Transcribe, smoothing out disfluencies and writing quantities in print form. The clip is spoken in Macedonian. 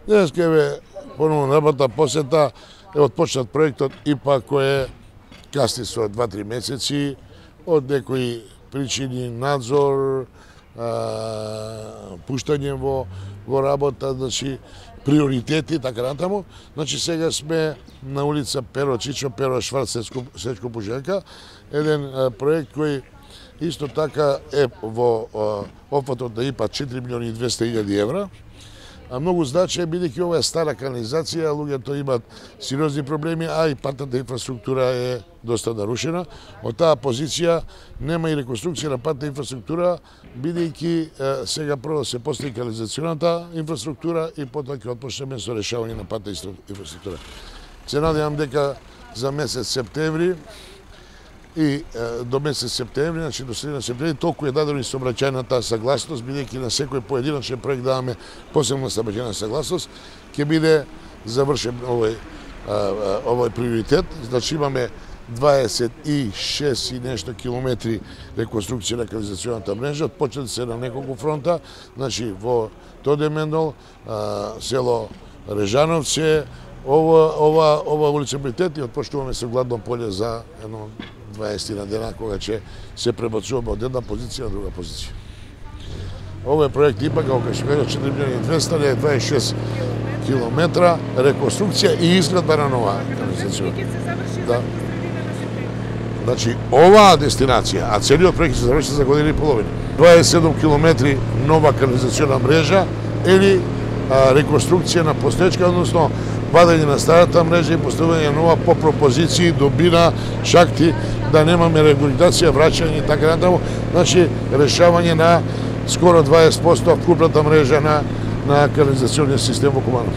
Денеска е поновно работа посета, е отпочнат проектот ИПА кој касни со 2-3 месеци од некои причини, надзор, пуштање во работа, значи приоритети, така натаму. Значи сега сме на улица Перо Чичо, Перо Шварц, Сечко Пуженка, еден проект кој исто така е во опфатот на ИПА 4.200.000 евра. А многу значај, бидејќи ова е стара канализација, луѓето имаат сериозни проблеми, а и патната инфраструктура е доста нарушена. Од таа позиција нема и реконструкција на патна инфраструктура, бидејќи сега прво се постави канализационата инфраструктура и потоа ќе отпочнеме со решавање на патна инфраструктура. Се надевам дека за месец септември и до месец септември, значи до средина септември, толку е дадено и сообраќајната согласност, бидејќи на секој поединечен проект даваме посебна сообраќајна согласност, ќе биде завршен овој приоритет. Значи имаме 26 и нешто километри реконструкција на канализационата мрежа, почнати се на неколку фронта, значи во Тодемендол, село Режановци, ова улица приоритет и отпочнуваме со Гладно поле за едно 20 на дена, кога ќе се пребацуваме од една позиција на друга позиција. Овој проект ИПА, како што кажа, 4.200.000 е 26 километра реконструкција и изградба на нова канализација. Да. Значи, оваа дестинација, а целиот проект се заврши за година и половина. 27 километри нова канализациона мрежа или реконструкција на постоечка, односно вадење на старата мрежа и поставување нова по пропозиции, добина, шахти, да немаме регулација, враќање и така натаму. Значи, решавање на скоро 20% вкупната мрежа на канализационниот систем во Куманово.